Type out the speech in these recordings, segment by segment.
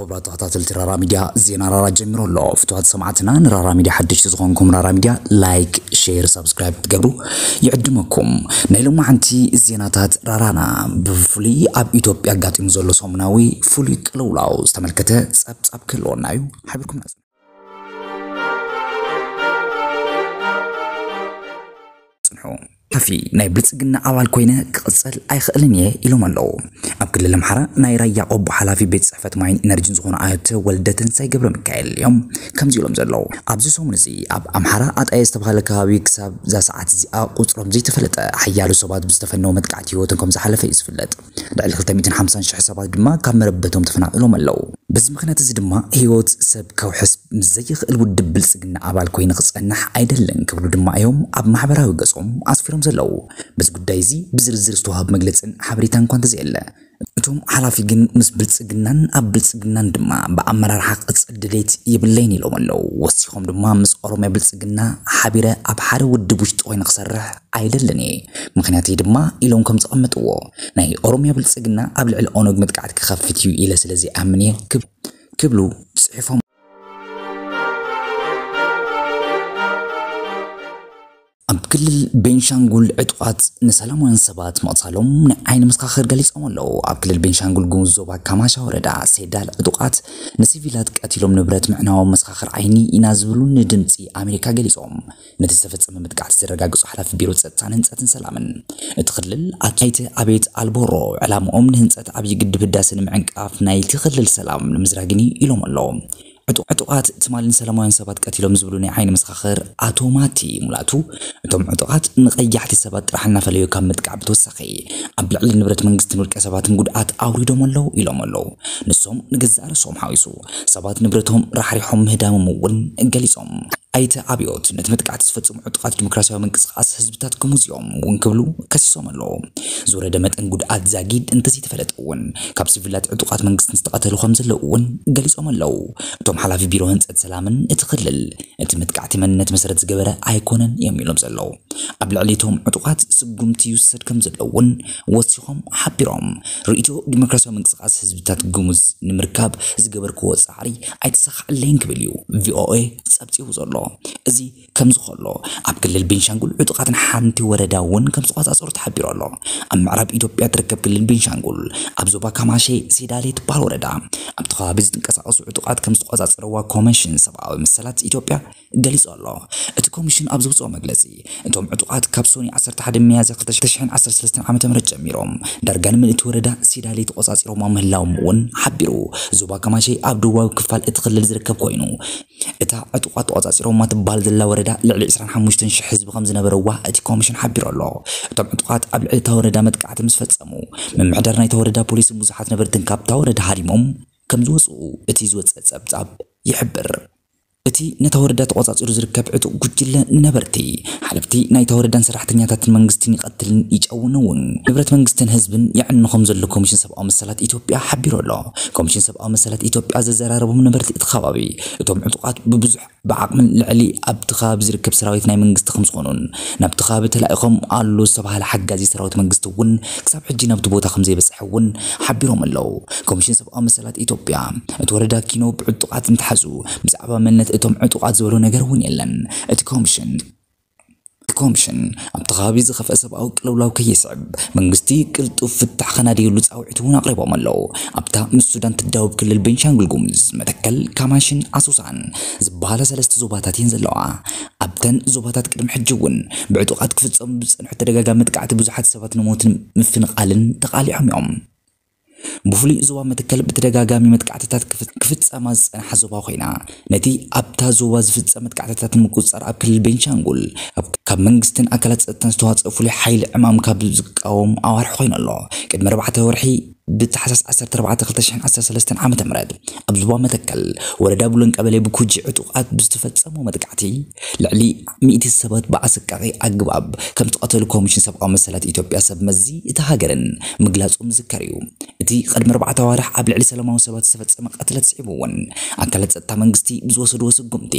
ክቡራት ተኸታተልቲ ራራ ሚድያ፣ ዜና ራራ ጀሚሩ ኣሎ። ፍትዋት ሰማዕትና፣ ንራራ ሚድያ ሓደሽቲ ዝኾንኩም ራራ ሚድያ ላይክ፣ ሼር፣ ሳብስክራይብ ትገብሩ ይዕድመኩም። ናይ ሎማዓንቲ ዜናታት ራራና ብፍሉይ ኣብ ኢትዮጵያ ኣጋጢሙ ዘሎ ሰሙናዊ ፍሉይ ቅልውላው ዝተመልከተ ጸብጻብ ክህልወና እዩ። ሓቢርኩም ናጽ ጽንሑ። ሓፊ ናይ ብልጽግና ኣባል ኮይነ ክቕጽል ኣይኽእልን እየ ኢሎም ኣለዉ። ኣብ ክልል ኣምሓራ ናይ ራያ ቆቦ ሓላፊ ቤት ጽሕፈት ማይን ኢነርጂን ዝኾኑ ኣቶ ወልደ ተንሳይ ገብረ ሚካኤል እዮም ከምዚ ኢሎም ዘለዉ። ኣብዚ ሰሙን እዚ ኣብ ኣምሓራ ኣጣየ ዝተባሃለ ከባቢ ክሳብ እዛ ሰዓት እዚኣ ቁጽሮም ዘይተፈለጠ ሓያሎ ሰባት ብዝተፈነወ መጥቃዕቲ ህይወቶም ከም ዝሓለፈ እዩ ዝፍለጥ። ልዕሊ ክልተ ሚእትን ሓምሳን ሽሕ ሰባት ድማ ካብ መረበቶም ተፈናቒሎም ኣለዉ። በዚ ምኽንያት እዚ ድማ ህይወት ሰብ ከውሕስ ምስ ዘይኽእል ውድብ ብልጽግና ኣባል ኮይኑ ክጸንሕ ኣይደልን ክብሉ ድማ እዮም ኣብ ማሕበራዊ ገጾም ኣስፊሮም ዘለዉ። በዚ ጉዳይ እዚ ብዝርዝር ዝተዋህብ መግለጽን ሓበሬታን እኳ እንተዘየለ፣ እቶም ሓላፊ ግን ምስ ብልጽግናን ኣብ ብልጽግናን ድማ ብኣመራርሓ ክቕጽል ድሌት የብለይን ኢሎም ኣለዉ። ወሲኾም ድማ ምስ ኦሮሚያ ብልጽግና ሓቢረ ኣብ ሓደ ውድብ ውሽጢ ኮይነ ክሰርሕ ኣይደልን እየ፣ ምኽንያተይ ድማ ኢሎም ከም ዘቐመጥዎ፣ ናይ ኦሮሚያ ብልጽግና ኣብ ልዕሊ ኦነግ መጥቃዕቲ ክኸፍት እዩ ኢለ ስለ ዘይኣምን እየ ክብ-፣ ክብሉ ጽሒፎም። ኣብ ክልል ቤንሻንጉል ዕጡቓት ንሰላማውያን ሰባት ምቕታሎም ናይ ዓይኒ መሰኻኽር ገሊጾም ኣለዉ። ኣብ ክልል ቤንሻንጉል ጉሙዝ ዞባ ካማሻ ወረዳ ሴዳል ዕጡቓት ንሲቪላት ቀቲሎም ንብረት ምዕናዎም መሰኻኽር ዓይኒ ኢና ዝብሉ ንድምጺ ኣሜሪካ ገሊጾም። ነቲ ዝተፈጸመ መጥቃዕቲ ዘረጋግጹ ሓላፊ ቢሮ ጸጥታን ህንጸትን ሰላምን እቲ ክልል ኣቶ ኣይተ ኣቤት ኣልቦሮ፣ ዕላምኦም ንህንጸት ዓብዪ ግድብ ህዳሰ ንምዕንቃፍ ናይቲ ክልል ሰላም ንምዝራግን እዩ ኢሎም ኣለዉ። ዕጡ-፣ ዕጡቓት ትማሊ ንሰላማውያን ሰባት ቀቲሎም ዝብሉ ናይ ዓይኒ መሰኻኽር ኣቶ ማቲ ሙላቱ፣ እቶም ዕጡቓት ንቐያሕቲ ሰባት ጥራሕ እናፈለዩ ካብ ምጥቃዕ ብተወሳኺ ኣብ ልዕሊ ንብረት መንግስትን ውልቀ ሰባትን ጉድኣት ኣውሪዶም ኣለዉ ኢሎም ኣለዉ። ንሶም ንገዛእ ርእሶም ሓዊሱ ሰባት ንብረቶም ራሕሪሖም ምህዳሞም እውን ገሊጾም። ኣይተ ኣብዮት ነቲ መጥቃዕቲ ዝፈጸሙ ዕጡቓት ዲሞክራሲያዊ ምንቅስቓስ ህዝብታት ግሙዝ እዮም እውን ክብሉ ከሲሶም ኣለዉ። ዝወረደ መጠን ጉድኣት ዛጊድ እንተዘይተፈለጠ እውን ካብ ሲቪላት ዕጡቓት መንግስትን ዝተቐተሉ ከም ዘለዉ እውን ገሊጾም ኣለዉ። እቶም ሓላፊ ቢሮ ህንጸት ሰላምን እቲ ክልል እቲ መጥቃዕቲ መንነት መሰረት ዝገበረ ኣይኮነን እዮም ኢሎም ዘለዉ። ኣብ ልዕሊ እቶም ዕጡቓት ስጉምቲ ይውሰድ ከም ዘሎ እውን ወሲኾም ሓቢሮም። ርእይቶ ዲሞክራሲያዊ ምንቅስቓስ ህዝብታት ግሙዝ ንምርካብ ዝገበርክዎ ጻዕሪ ኣይተሳኻዕለይን ክብል እዩ ቪኦኤ ጸብጺቡ ዘሎ። እዚ ከምዚ ከሎ፣ ኣብ ክልል ቤንሻንጉል ዕጡቓት ንሓንቲ ወረዳ እውን ከም ዝተቆጻጸሩ ተሓቢሩ ኣሎ። ኣብ ምዕራብ ኢትዮጵያ ትርከብ ክልል ቤንሻንጉል ኣብ ዞባ ካማሼ ሴዳሌ ትበሃል ወረዳ ኣብቲ ከባቢ ዝንቀሳቐሱ ዕጡቓት ከም ዝተቆጻጸረዋ ኮሚሽን ሰብኣዊ መሰላት ኢትዮጵያ ገሊጹ ኣሎ። እቲ ኮሚሽን ኣብ ዘውጽኦ መግለጺ፣ እቶም ዕጡቓት ካብ ሶኒ ዓሰርተ ሓደ ሚያዝያ ክልተ ሽሕን ዓሰርተ ሰለስተን ዓመተ ምህረት ጀሚሮም ዳርጋ ንምልእቲ ወረዳ ሴዳሌ ተቆጻጺሮማ ምህላዎም እውን ሓቢሩ። ዞባ ካማሼ ኣብ ደቡባዊ ክፋል እቲ ክልል ዝርከብ ኮይኑ፣ እታ ዕጡቓት ተቆጻጺሮማ ትበሃል ዘላ ወረዳ ልዕሊ ዕስራን ሓሙሽተን ሽሕ ህዝቢ ከም ዝነበረዋ እቲ ኮሚሽን ሓቢሩ ኣሎ። እቶም ዕጡቓት ኣብ ልዕሊ እታ ወረዳ መጥቃዕቲ ምስ ፈጸሙ፣ ምምሕዳር ናይታ ወረዳ ፖሊስን ብዙሓት ነበርትን ካብታ ወረዳ ሃዲሞም ከም ዝወጽኡ እቲ ዝወጸ ጸብጻብ ይሕብር። እቲ ነታ ወረዳ ተቆጻጺሩ ዝርከብ ዕጡቕ ጉጅለ ንነበርቲ፣ ሓለፍቲ ናይታ ወረዳን ሰራሕተኛታትን መንግስትን ይቐትልን ይጨውን እውን ንብረት መንግስትን ህዝብን የዕኑ ከም ዘሎ ኮሚሽን ሰብኣዊ መሰላት ኢትዮጵያ ሓቢሩ ኣሎ። ኮሚሽን ሰብኣዊ መሰላት ኢትዮጵያ ዘዘራረቦም ነበርቲ እቲ ከባቢ፣ እቶም ዕጡቓት ብብዙሕ ብዓቕምን ልዕሊ ኣብቲ ከባቢ ዝርከብ ሰራዊት ናይ መንግስቲ ከም ዝኾኑን ናብቲ ከባቢ ተላኢኾም ኣሎ ዝተባህለ ሓጋዚ ሰራዊት መንግስቲ እውን ክሳብ ሕጂ ናብቲ ቦታ ከም ዘይበጽሐ እውን ሓቢሮም ኣለዉ። ኮሚሽን ሰብኣዊ መሰላት ኢትዮጵያ፣ እቲ ወረዳ ኪኖ ብዕጡቓት እንተሓዙ፣ ብዛዕባ መንነት እቶም ዕጡቓት ዝበሎ ነገር እውን የለን። እቲ ኮሚሽን፣ እቲ ኮሚሽን ኣብቲ ከባቢ ዝኸፍአ ሰብኣዊ ቅልውላው ከየስዕብ፣ መንግስቲ ቅልጡፍ ፍታሕ ከናድየሉ ጻውዒት እውን ኣቕሪቦም ኣለዉ። ኣብታ ምስ ሱዳን ትዳወብ ክልል ቤንሻንጉል ጉሙዝ፣ መተከል፣ ካማሽን ኣሶሳን ዝበሃላ ሰለስተ ዞባታት እየን ዘለዋ። ኣብተን ዞባታት ቅድሚ ሕጂ እውን ብዕጡቓት ክፍጸሙ ብዝጸንሑ ተደጋጋሚ መጥቃዕቲ ብዙሓት ሰባት ንሞትን ምፍንቓልን ተቓሊዖም እዮም። ብፍሉይ ዞባ መተከል ብተደጋጋሚ መጥቃዕትታት ክፍ-፣ ክፍጸማ ዝጸንሓ ዞባ ኮይና፣ ነቲ ኣብታ ዞባ ዝፍጸም መጥቃዕትታት ንምቁጽጻር ኣብ ክልል ቤንሻንጉል ኣብ፣ ካብ መንግስትን ኣካላት ጸጥታን ዝተዋጽኦ ፍሉይ ሓይሊ ዕማም ካብ ዝቃወም ኣዋርሕ ኮይኑ ኣሎ። ቅድሚ ኣርባዕተ ወርሒ ብታሕሳስ ዓሰርተ ኣርባዕተ ክልተ ሽሕን ዓሰርተ ሰለስተን ዓመተ ምህረት ኣብ ዞባ መተከል ወረዳ ቡለን ቀበሌ ብኩጂ ዕጡቓት ብዝተፈጸመ መጥቃዕቲ ልዕሊ ሚእቲ ሰባት ብኣሰቃቒ ኣግባብ ከም ዝተቐተሉ ኮሚሽን ሰብኣዊ መሰላት ኢትዮጵያ ሰብ መዚ እታ ሃገርን ምግላጾም ዝዝከር እዩ። እቲ ቅድሚ ኣርባዕተ ኣዋርሕ ኣብ ልዕሊ ሰላማዊ ሰባት ዝተፈጸመ ቅትለት ስዒቡ እውን ኣካላት ጸጥታ መንግስቲ ብዝወሰድዎ ስጉምቲ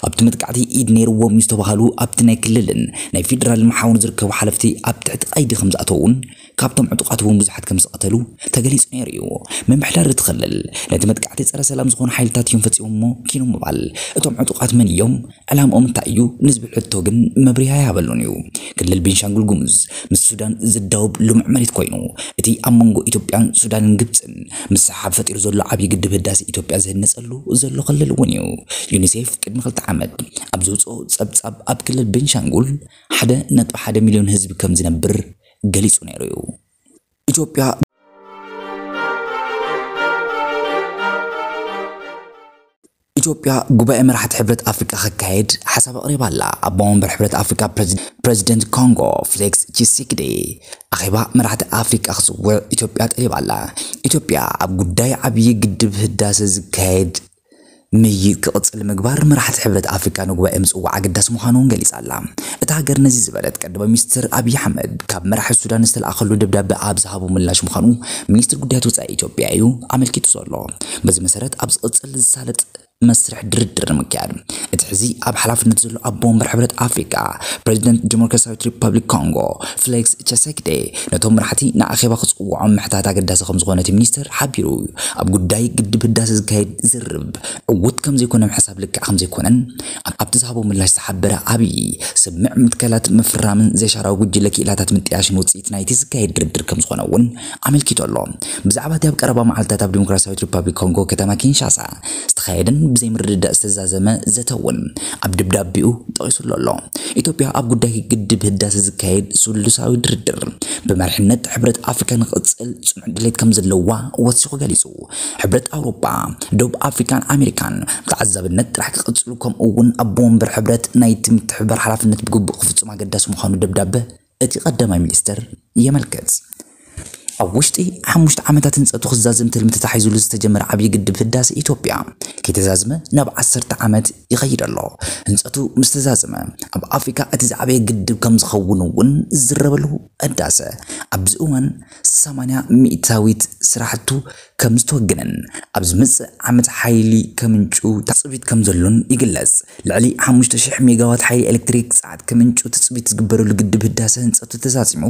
ኣብቲ መጥቃዕቲ ኢድ ነይርዎም እዩ ዝተባሃሉ ኣብቲ ናይ ክልልን ናይ ፌደራልን መሓውር ዝርከቡ ሓለፍቲ ኣብ ትሕቲ ቀይዲ ከም ዝኣተዉ እውን ካብቶም ዕጡቓት እውን ብዙሓት ከም ዝተቐተሉ ተገሊጹ ነይሩ እዩ። ምምሕዳር እቲ ክልል ነቲ መጥቃዕቲ ጸረ ሰላም ዝኾኑ ሓይልታት እዮም ፈጺሞሞ ኪኑ ምባል፣ እቶም ዕጡቓት መን እዮም፣ ዕላምኦም እንታይ እዩ ንዝብል ሕቶ ግን መብርሂ ኣይሃበሉን እዩ። ክልል ቤንሻንጉል ጉሙዝ ምስ ሱዳን ዝዳወብ ልሙዕ መሬት ኮይኑ፣ እቲ ኣብ መንጎ ኢትዮጵያን ሱዳንን ግብጽን ምስሕሓብ ፈጢሩ ዘሎ ዓብዪ ግድብ ህዳሴ ኢትዮጵያ ዝህነጸሉ ዘሎ ክልል እውን እዩ። ዩኒሴፍ ቅድሚ ክልተ ዓመት ኣብ ዘውፅኦ ጸብጻብ ኣብ ክልል ቤንሻንጉል ሓደ ነጥቢ ሓደ ሚሊዮን ህዝቢ ከም ዝነብር ገሊጹ ነይሩ እዩ። ኢትዮጵያ ኢትዮጵያ ጉባኤ መራሕቲ ሕብረት ኣፍሪቃ ክካየድ ሓሳብ ኣቕሪባ ኣላ። ኣቦ መንበር ሕብረት ኣፍሪቃ ፕሬዚ- ፕሬዚደንት ኮንጎ ፌሊክስ ቺሴክዴ ኣኼባ መራሕቲ ኣፍሪቃ ክጽውዕ ኢትዮጵያ ጠሊባ ኣላ። ኢትዮጵያ ኣብ ጉዳይ ዓብዪ ግድብ ህዳሰ ዝካየድ ምይይጥ ክቕጽል ምግባር መራሕቲ ሕብረት ኣፍሪቃ ንጉባኤ ምጽዋዕ ኣገዳሲ ምዃኑ እውን ገሊጻ ኣላ። እታ ሃገር ነዚ ዝበለት ቀዳማይ ሚኒስትር ኣብይ ኣሕመድ ካብ መራሒ ሱዳን ዝተለኣኸሉ ደብዳበ ኣብ ዝሃቦ ምላሽ ምዃኑ ሚኒስትር ጉዳያት ወጻኢ ኢትዮጵያ እዩ ኣመልኪቱ ዘሎ። በዚ መሰረት ኣብ ዝቕጽል ዝሳለጥ መስርሕ ድርድር ንምክያድ እቲ ሕዚ ኣብ ሓላፍነት ዘሎ ኣቦ ወንበር ሕብረት ኣፍሪቃ ፕሬዚደንት ዲሞክራሲያዊት ሪፐብሊክ ኮንጎ ፌሊክስ ቸሴክዴ ነቶም መራሕቲ ንኣኼባ ክጽውዖም ምሕታት ኣገዳሲ ከም ዝኾነ እቲ ሚኒስትር ሓቢሩ። ኣብ ጉዳይ ግድብ ህዳሰ ዝካየድ ዝርርብ ዕዉት ከም ዘይኮነ ምሕሳብ ልክዕ ከም ዘይኮነን ኣብቲ ዝሃቦ ምላሽ ዝሓበረ ኣብይ ስምዕ ምትካላት ምፍራምን ዘይሻራዊ ጉጅለ ክኢላታት ምጥያሽን ውጽኢት ናይቲ ዝካየድ ድርድር ከም ዝኾነ እውን ኣመልኪቱ ኣሎ። ብዛዕባ እቲ ኣብ ቀረባ መዓልታት ኣብ ዲሞክራሲያዊት ሪፐብሊክ ኮንጎ ከተማ ኪንሻሳ ዝተኻየደን ብዘይ ምርድዳእ ዝተዛዘመ ዘተ እውን ኣብ ደብዳቤኡ ጠቒሱሉ ኣሎ። ኢትዮጵያ ኣብ ጉዳይ ግድብ ህዳሰ ዝካየድ ስሉሳዊ ድርድር ብመሪሕነት ሕብረት ኣፍሪካ ንክቕፅል ጽኑዕ ድሌት ከም ዘለዋ ወሲኹ ገሊጹ። ሕብረት ኣውሮጳ፣ ደቡብ ኣፍሪካን ኣሜሪካን ብተዓዛብነት ጥራሕ ክቕጽሉ፣ ከምኡ እውን ኣቦ ወንበር ሕብረት ናይቲ ምትሕብባር ሓላፍነት ብግቡእ ክፍጽም ኣገዳሲ ምዃኑ ደብዳበ እቲ ቀዳማይ ሚኒስትር የመልክት። ኣብ ውሽጢ ሓሙሽተ ዓመታት ህንጸቱ ክዛዝም ትልሚ ተታሒዙሉ ዝተጀመረ ዓብዪ ግድብ ህዳሰ ኢትዮጵያ ከይተዛዝመ ናብ ዓሰርተ ዓመት ይኸይድ ኣሎ። ህንጸቱ ምስ ተዛዘመ ኣብ ኣፍሪካ እቲ ዝዓበየ ግድብ ከም ዝኸውን እውን ዝዝረበሉ ህዳሰ ኣብዚ እዋን ሰማንያ ሚእታዊት ስራሕቱ ከም ዝተወገነን ኣብ ዝመጽእ ዓመት ሓይሊ ከምንጩ ትጽቢት ከም ዘሎን ይግለጽ። ልዕሊ ሓሙሽተ ሽሕ ሜጋዋት ሓይሊ ኤሌክትሪክ ጸዓት ከምንጩ ትጽቢት ዝግበረሉ ግድብ ህዳሰ ህንጸቱ ተዛዚሙ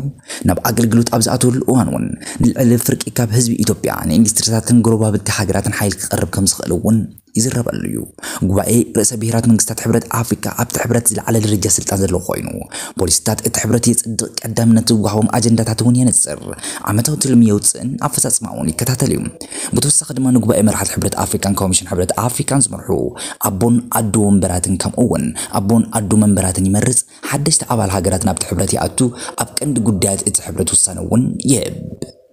ናብ ኣገልግሎት ኣብ ዝኣተወሉ እዋን እውን ንልዕሊ ፍርቂ ካብ ህዝቢ ኢትዮጵያ ንኢንዱስትሪታትን ጎረባብቲ ሃገራትን ሓይሊ ክቐርብ ከም ዝኽእል እውን ይዝረበሉ እዩ። ጉባኤ ርእሰ ብሔራት መንግስታት ሕብረት ኣፍሪካ ኣብቲ ሕብረት ዝለዓለ ደረጃ ስልጣን ዘለዎ ኮይኑ ፖሊሲታት እቲ ሕብረት የጽድቕ፣ ቀዳምነት ዝወሃቦም ኣጀንዳታት እውን የነጽር፣ ዓመታዊ ትልሚ የውፅእን ኣፈፃፅማ እውን ይከታተል እዩ። ብተወሳኺ ድማ ንጉባኤ መራሕቲ ሕብረት ኣፍሪካን ኮሚሽን ሕብረት ኣፍሪካን ዝመርሑ ኣቦን ኣዶ ወንበራትን ከምኡ እውን ኣቦን ኣዶ መንበራትን ይመርፅ፣ ሓደሽቲ ኣባል ሃገራት ናብቲ ሕብረት ይኣቱ፣ ኣብ ቀንዲ ጉዳያት እቲ ሕብረት ውሳነ እውን ይህብ።